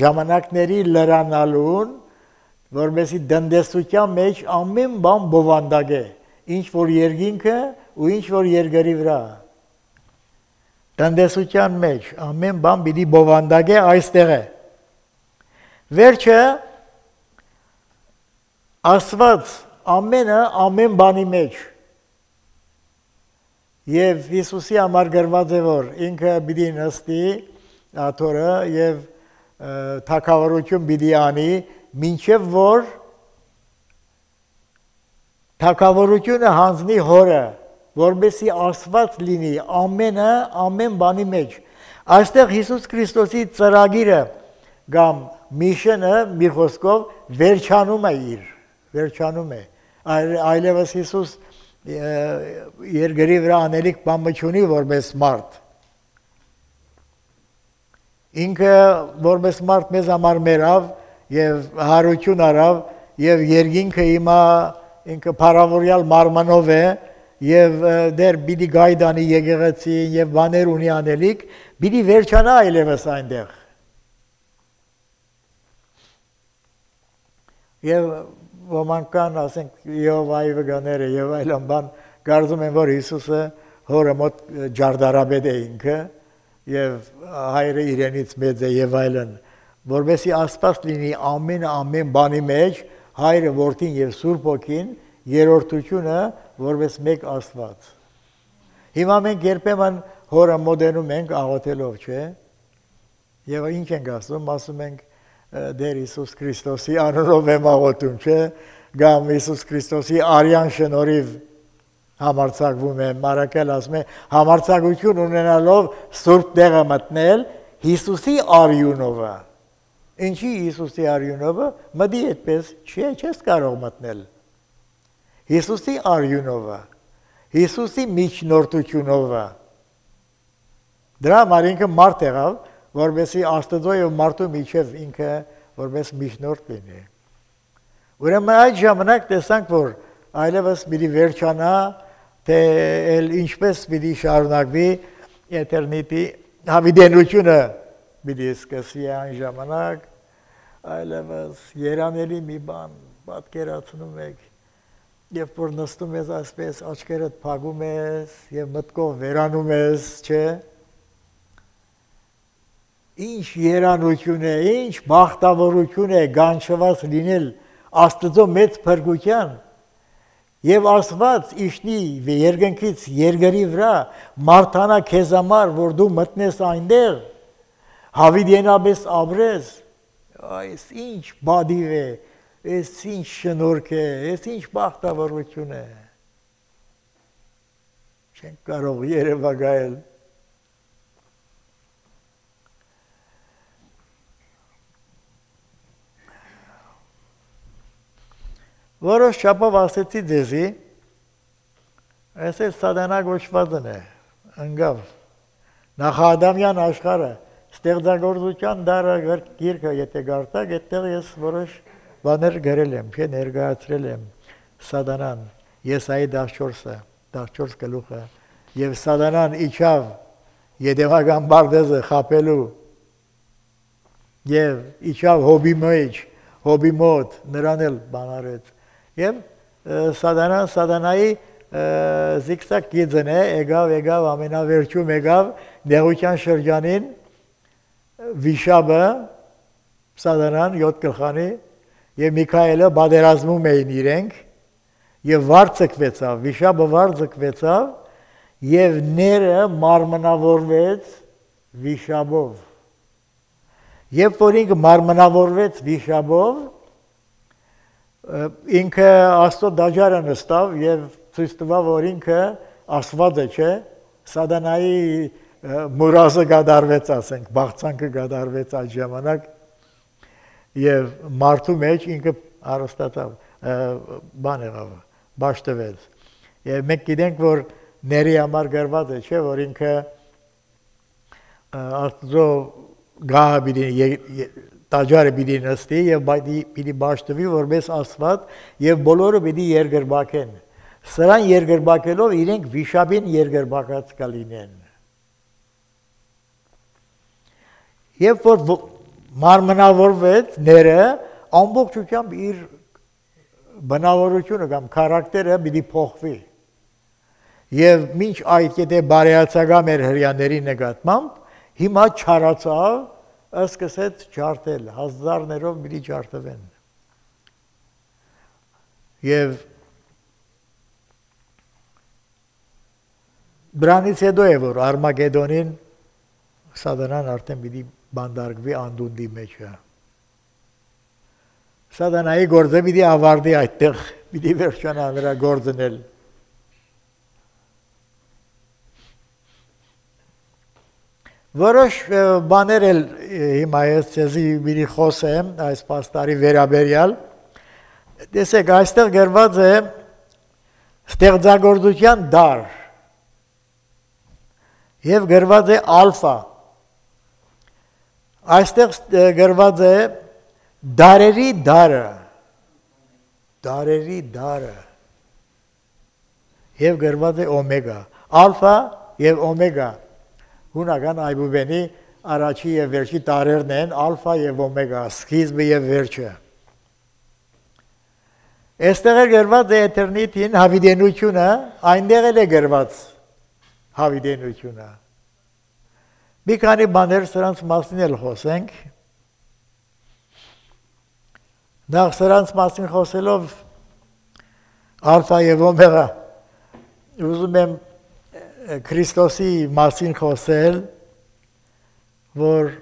ժամանակների լրանալուն, որովհետեւ դնդեսության մեջ ամեն բան բովանդակ է, ինչ որ երկինքը ու ինչ որ երկրի վրա։ Դնդեսության մեջ ամեն բան պիտի բովանդակ է այստեղ է։ Վերջը Աստված ամեն բանի մեջ եւ Հիսուսի համար գրված է որ ինքը պիտի նստի աթորը եւ թագավորություն պիտի անի, մինչև որ թագավորությունը հանձնի հորը որբեսի Աստված լինի ամեն բանի մեջ։ Այստեղ Հիսուս Քրիստոսի ծրագիրը կամ միշենը մի խոսքով վերջանում է։ Այլևս Հիսուս երկրի վրա անելիք բան չունի որպես մարդ։ Ինքը որպես մարդ մեզ համար մեռավ եւ հարություն արավ եւ երկինքը հիմա ինքը փառավորյալ մարմնով է եւ դեր պիտի գայդանի եկեղեցի եւ բաներ ունի անելիք, պիտի վերջանա այլևս այնտեղ։ Եվ ոմանք կան, ասենք Եհովայի վկաները եւ այլն բան կարծում են, որ Հիսուսը հորը մոտ ջարդարաբեդ է ինքը եւ հայրը իրենից մեծ է եւ այլն, որովհետեւ Աստված լինի ամեն բանի մեջ, հայրը, որդին եւ Սուրբ Հոգին, երրորդությունը որպես մեկ Աստված։ Հիմա մենք երբեմն հորը մոդենում ենք աղոթելով, չէ՞։ Եվ ինչ ենք ասում ենք դեր Հիսուս Քրիստոսի անունով եմ աղոթում, չէ՞։ Կամ Հիսուս Քրիստոսի արյան շնորհիվ համարձակվում է, Մարակել ասում է, համարձակություն ունենալով Սուրբ տեղը մտնել Հիսուսի արյունովը։ Ինչի Հիսուսի արյունովը, մտի այդպես չես կարող մտնել։ Հիսուսի արյունովը, Հիսուսի միջնորդությունովը։ Դրա համար ինքը մարդ եղավ, որովհետեւ Աստծո եւ մարդու միջև ինքը որպես միջնորդ լինի։ Ուրեմն այդ ժամանակ տեսանք, որ այլևս պիտի վերջանա, թե ինչպես պիտի շարունակվի էտերնիտի հավիտենությունը պիտի սկսի այն ժամանակ, այլևս երանելի մի բան պատկերացնում եք, երբ որ նստում ես այսպես աչքերդ փակում ես եւ մտքով վերանում ես, չէ՞։ Ինչ երանություն է, ինչ բախտավորություն է գանչված լինել Աստծո մեծ փրկության եւ Աստված իշնի երկնքից երկրի վրա մարդանա քեզ համար, որ դու մտնես այնտեղ, հավիտենապես ապրես, այս ինչ բադիվ է, այս ինչ շնորհք է, այս ինչ բախտավորություն է։ Չենք կարող երևակայել։ Որոշ չափով ասեցի ձեզի, այսպես սատանա գոչվածն է, ընկավ, նախադամյան աշխարհը, ստեղծագործության դարը գիրքը եթե գարտակ, այդտեղ ես որոշ բաներ գրել եմ, չէ, ներկայացրել եմ սատանան, Եսայի 14 գլուխը, եւ սատանան իջավ Եդեվական Բարդեզը խապելու, եւ իջավ Հոբի մոտ, նրան էլ բան արեց։ Եվ սատանայի զիգզակ գիծն է, եկավ ամենավերջում եկավ նեղության շրջանին վիշապը սատանան 7 գլխանի եւ Միքայելը բادرազմում էին իրենք եւ վար ցկվեցավ, վիշապը վար ցկվեցավ եւ ները մարմնավորվեց վիշապով։ Երբ որ ինքը մարմնավորվեց վիշապով, ինքը Աստծո դաջարը նստավ եւ ցույց տվավ, որ ինքը Աստված է, չէ, սատանայի մուրազը գդարվեց, ասենք, բաղցանքը գդարվեց այդ ժամանակ եւ մարդու մեջ ինքը արստացավ, բան եղավ, բաշտվեց։ Եվ մենք գիտենք, որ ների համար գրված է, չէ, որ ինքը Աստծո գահը տաճարը պիտի նստի եւ պիտի բաշտվի որպես Աստված եւ բոլորը պիտի երկրբակեն։ Սրան երկրբակելով իրենք վիշապին երկրբակած կլինեն։ Երբ որ մարմնավորվեց ները, ամբողջությամբ իր բնավորությունը կամ քարակտերը պիտի փոխվի։ Եվ մինչ այդ եթե բարեացակամ էր հрьяաների նկատմամբ, հիմա չարացավ, սկսեց ջարդել, հազարներով պիտի ջարդվեն։ Եվ դրանից հետո է, որ Արմագեդոնին սատանան արդեն պիտի բանդարգվի անդունդի մեջը։ Սատանայի գործը պիտի ավարտի այդտեղ, պիտի վերջանա նրա գործն էլ։ Որոշ բաներ էլ հիմա ես ցեզի մի խոսեմ այս պաստարի վերաբերյալ։ Տեսեք, այստեղ գրված է ստեղծագործության դար եւ գրված է ալֆա։ Այստեղ գրված է դարերի դարը, դարերի դարը եւ գրված է օմեգա, ալֆա եւ օմեգա։ Հունական այբուբենի առաջի եւ վերջի տարերն են ալֆա եւ օմեգա, սկիզբը եւ վերջը։ Այստեղ է գրված է էտերնիտին հավիտենությունը, այնտեղ էլ է գրված հավիտենությունը։ Մի քանի բաներ սրանց մասին էլ խոսենք։ Նախ սրանց մասին խոսելով ալֆա եւ օմեգա ուզում եմ Քրիստոսի մասին խոսել, որ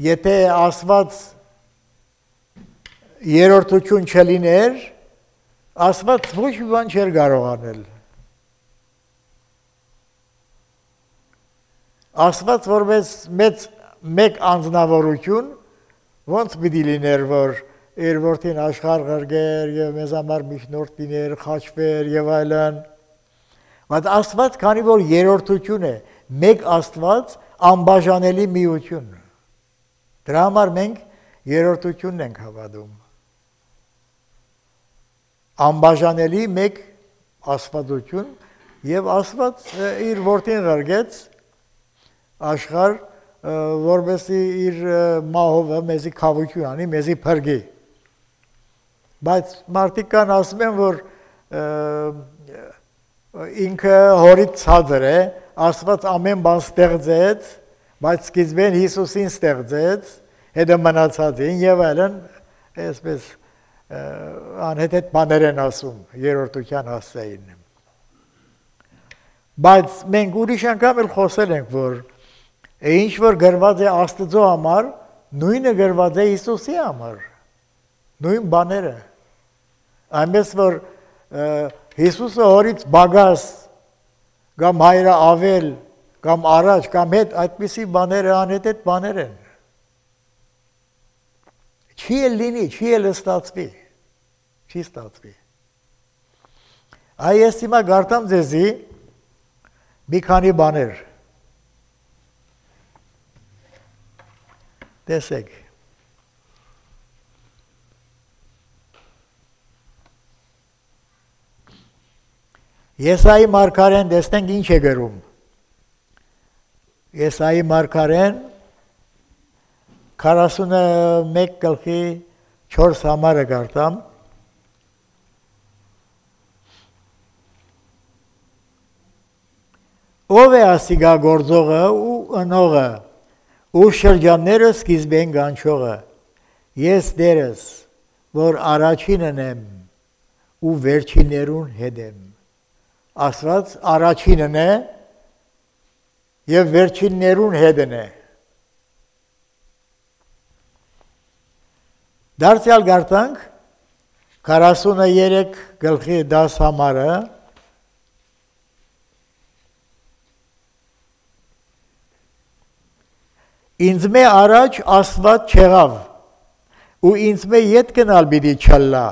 եթե Աստված երրորդություն չլիներ, Աստված ոչ մի բան չէր կարող անել։ Աստված որպես մեկ անձնավորություն ոնց պիտի լիներ, որ իր որդին աշխարհ ղրգեր եւ մեզ համար միջնորդ լիներ, խաչվեր եւ այլն։ Բայց Աստված, քանի որ երրորդություն է, մեկ Աստված անբաժանելի միություն։ Դրա համար մենք երրորդությունն ենք հավատում։ Անբաժանելի մեկ Աստվածություն եւ Աստված իր որդին ղրգեց աշխարհ, որովհետեւ իր մահովը մեզի խավություն անի, մեզի փրկի։ Բայց մարդիկ կան ասում են, որ ինքը հորից ցածր է, Աստված ամեն բան ստեղծեց, բայց սկիզբեն Հիսուսին ստեղծեց, հետո մնացածին եւ այլն, այսպես անհետ բաներ են ասում երրորդության հասցեին։ Բայց մենք ուրիշ անգամ էլ խոսել ենք, որ ինչ որ գրված է Աստծո համար, նույնը գրված է Հիսուսի համար, նույն բաները։ Այնպես որ Հիսուսը հորից բագաս, կամ հայրը ավել, կամ առաջ, կամ հետ, այդպիսի բաները անհետ բաներ են։ Չի էլ լինի, չի էլ ստացվի, չի ստացվի։ Այ ես հիմա գարտամ ձեզի մի քանի բաներ։ Տեսեք։ Եսայի մարգարեն տեսնենք ինչ է գրում։ Եսայի մարգարեն 41 գլխի 4 համարը գարտամ։ Ով է ասիգա գործողը ու ընողը, ու շրջանները սկիզբեն գանչողը, ես դերս, որ առաջինն եմ ու վերջիններուն հետ եմ։ Աստված առաջինն է եւ վերջիններուն հետն է։ Դարձյալ գարտանք 43 գլխի 10 համարը Ինձ մե առաջ Աստված չեղավ ու ինձ մե ետ գնալ պիտի չլա։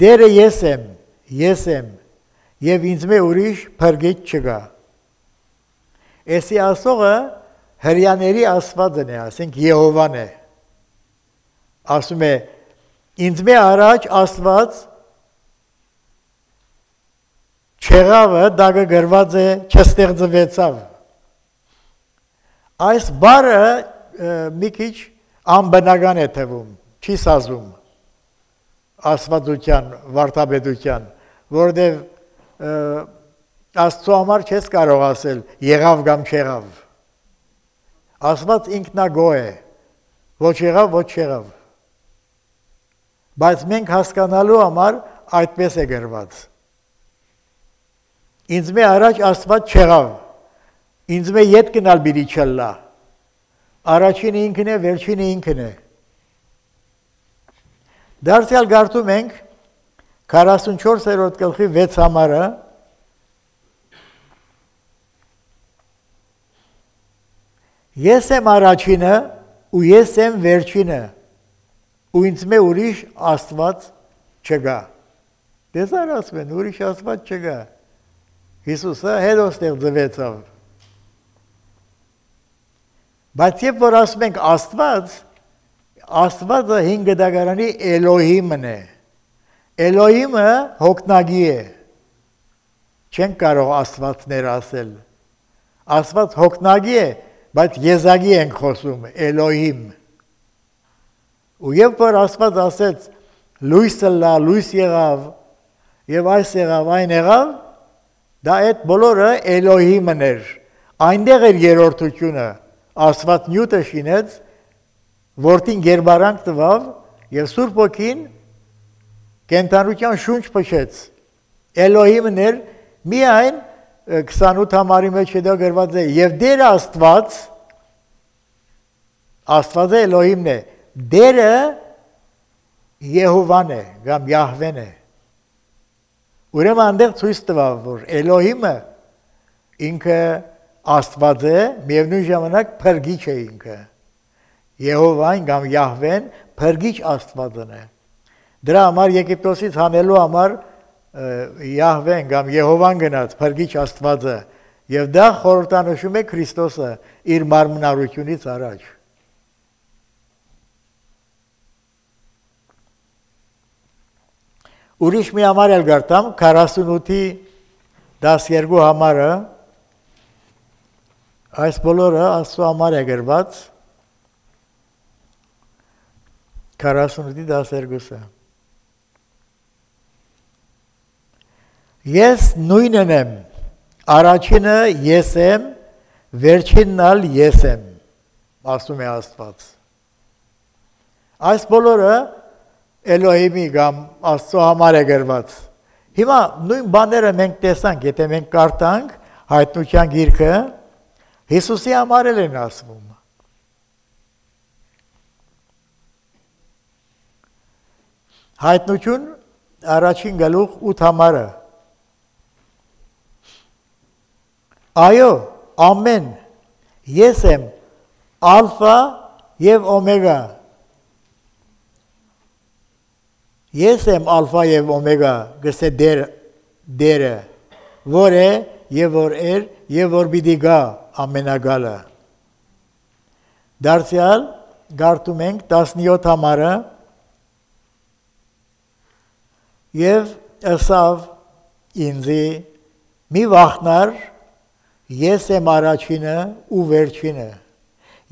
Դերը ես եմ եւ ինձ մե ուրիշ փրկիչ չկա։ Էսի ասողը հրյաների Աստվածն է, ասենք Եհովան է։ Ասում է ինձ մե առաջ Աստված չեղավը դագը գրված է չստեղծվեցավ։ Այս բառը մի քիչ անբնական է թվում, չի սազում աստվածության, վարդապետության, որովհետև Աստծո համար չես կարող ասել եղավ կամ չեղավ։ Աստված ինքնագոհ է, ոչ եղավ, ոչ չեղավ։ Բայց մենք հասկանալու համար այդպես է գրված։ Ինձ մե առաջ Աստված չեղավ։ Ինձ մե ետ գնալ պիտի չլա։ Առաջինը ինքն է, վերջինը ինքն է։ Դարձյալ գարտում ենք 44-րդ գլխի 6 համարը Ես եմ առաջինը ու ես եմ վերջինը ու ինձ մե ուրիշ Աստված չկա։ Դեսար ասում են ուրիշ Աստված չկա։ Հիսուսը հետո ստեղծվեցավ։ Բայց երբ որ ասում ենք Աստված, Աստվածը 5 դագարանի Էլոհիմն է։ Էլոհիմը հոգնագի է։ Չենք կարող Աստվածներ ասել։ Աստված հոգնագի է, բայց եզակի ենք խոսում, Էլոհիմ։ Ու երբ որ Աստված ասեց լույսը լա, լույս եղավ, եւ այս եղավ, այն եղավ, դա այդ բոլորը Էլոհիմն էր։ Այնտեղ էր երրորդությունը, Աստված նյութը շինեց, որդին գերբարանք տվավ եւ Սուրբ Ոգին կենթանության շունչ փչեց։ Էլոհիմն էր միայն 28 համարի մեջ հետո գրված է եւ Դերը Աստված, Աստվածը Էլոհիմն է, Դերը Եհովան է, կամ Յահվեն է։ Ուրեմն այնտեղ ցույց տվավ, որ Էլոհիմը ինքը Աստված է, միևնույն ժամանակ փրկիչ է ինքը։ Եհովան կամ Յահվեն փրկիչ Աստվածն է։ Դրա համար Եգիպտոսից հանելու համար Յահվեն կամ Եհովան գնաց փրկիչ Աստվածը եւ դա խորհրդանշում է Քրիստոսը իր մարմնարությունից առաջ։ Ուրիշ մի համար էլ գարտամ 48-ի 12 համարը այս բոլորը Աստծո համար է գրված 48-ի 12-ը Ես նույնն եմ, առաջինը ես եմ, վերջինն ալ ես եմ, ասում է Աստված։ Այս բոլորը Էլոհիմի կամ Աստծո համար է գրված։ Հիմա նույն բաները մենք տեսանք, եթե մենք կարդանք Հայտնության գիրքը, Հիսուսի համար են ասվում։ Հայտնություն առաջին գլուխ 8 համարը Այո, ամեն, ես եմ ալֆա և օմեգա, ես եմ ալֆա և օմեգա, գսե դերը, որ է և որ էր և որ բիդի գա ամենագալը։ Դարձյալ գարտում ենք 17 համարը և ըսավ ինձի մի վախնար Ես եմ առաջինը ու վերջինը,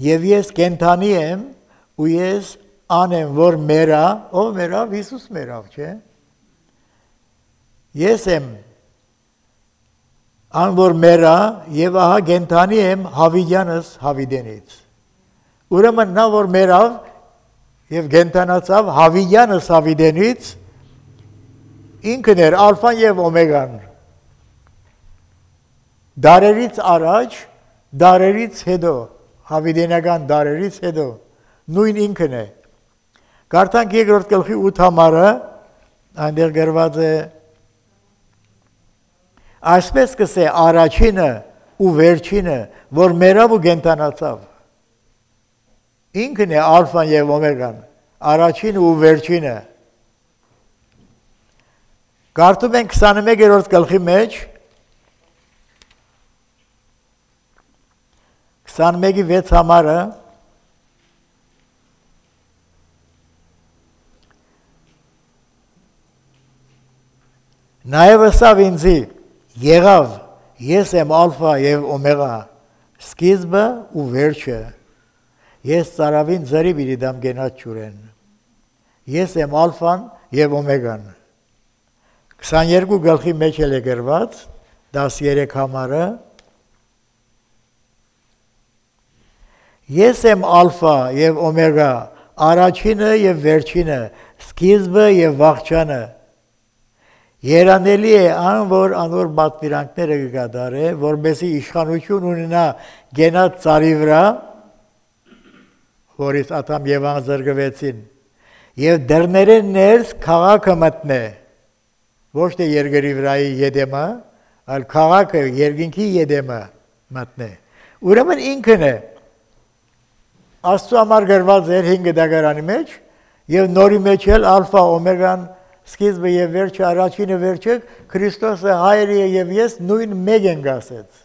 և ես կենթանի եմ ու ես անեմ, որ մերա, ով մերավ, Հիսուս մերավ, չէ։ Ես եմ ան, որ մերա, և ահա կենթանի եմ Հավիդյանս Հավիդենից։ Ուրեմն նա, որ մերավ և կենթանացավ Հավիդյանս Հավիդենից, ինքն էր ալֆան և օմեգան։ Դարերից առաջ, դարերից հետո, հավիդենական դարերից հետո, նույն ինքն է։ Կարդանք երկրորդ գլխի 8 համարը, այնտեղ գրված է այսպես կսե առաջինը ու վերջինը, որ մերավ ու կենթանացավ։ Ինքն է ալֆան և օմեգան, առաջինը ու վերջինը։ Կարդում ենք 21-րդ գլխի մեջ 21-ի 6 համարը Նաև ըսավ ինձի եղավ ես եմ ալֆա և օմեգա սկիզբը ու վերջը ես ծարավին ձրի բիդի դամ գենած ջուրեն ես եմ ալֆան և օմեգան 22 գլխի մեջ էլ է գրված 13 համարը Ես եմ ալֆա և օմեգա, առաջինը և վերջինը, սկիզբը և վախճանը։ Երանելի է ան, որ անոր պատվիրանքները կգադարե, որպեսզի իշխանություն ունենա գենած ծառի վրա, որից Ադամ և Եվան զրկվեցին, և դռներեն ներս քաղաքը մտնե, ոչ թե երկրի վրայի ետեմը, այլ քաղաքը երկինքի ետեմը մտնե։ Ուրեմն ինքն է Աստծո համար գրված էր 5 դագարանի մեջ եւ նորի մեջ էլ ալֆա օմեգան սկիզբը եւ վերջը առաջինը վերջը Քրիստոսը հայրը եւ ես նույն մեկ ենք ասեց։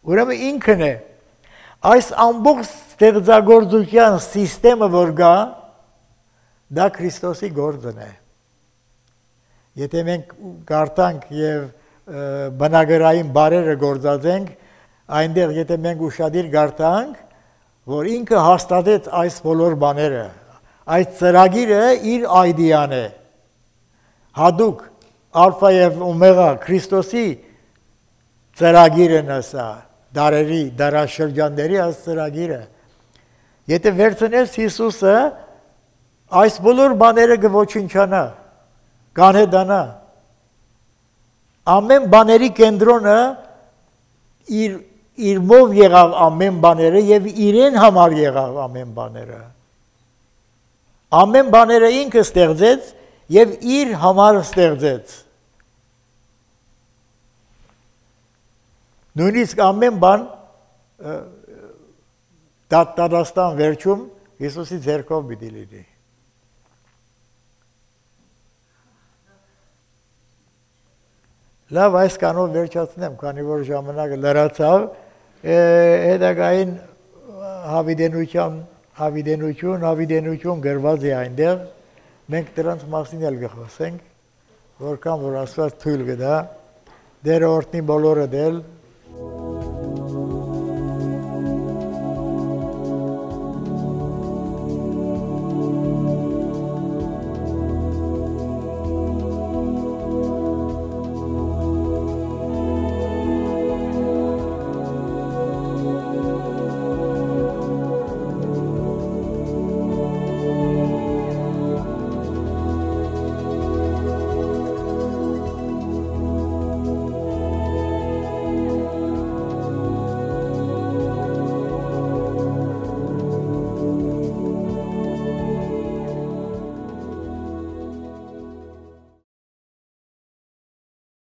Ուրեմն ինքն է այս ամբողջ ստեղծագործության համակարգը որ գա դա Քրիստոսի գործն է։ Եթե մենք գարտանք եւ բնագրային բարերը գործածենք, այնտեղ եթե մենք ուշադիր գարտանք, որ ինքը հաստատեց այս բոլոր բաները, այս ծրագիրը իր այդիան է։ Հadouk ալֆա եւ օմեգա Քրիստոսի ծրագիրն է սա, դարերի, դարաշրջանների այս ծրագիրը։ Եթե վերցնես Հիսուսը, այս բոլոր բաները կոչնչանա, կանհետանա։ Ամեն բաների կենտրոնը իր մով եղավ ամեն բաները եւ իրեն համար եղավ ամեն բաները։ Ամեն բաները ինքը ստեղծեց եւ իր համար ստեղծեց։ Նույնիսկ ամեն բան դատաստան վերջում Հիսուսի ձեռքով պիտի լինի։ Լավ, այս կանով վերջացնեմ, քանի որ ժամանակը լրացավ, հետագային հավիդենություն գրված է այնտեղ, մենք դրանց մասին էլ կխոսենք, որքան որ Աստված թույլ կտա, դերը օրհնի բոլորը դել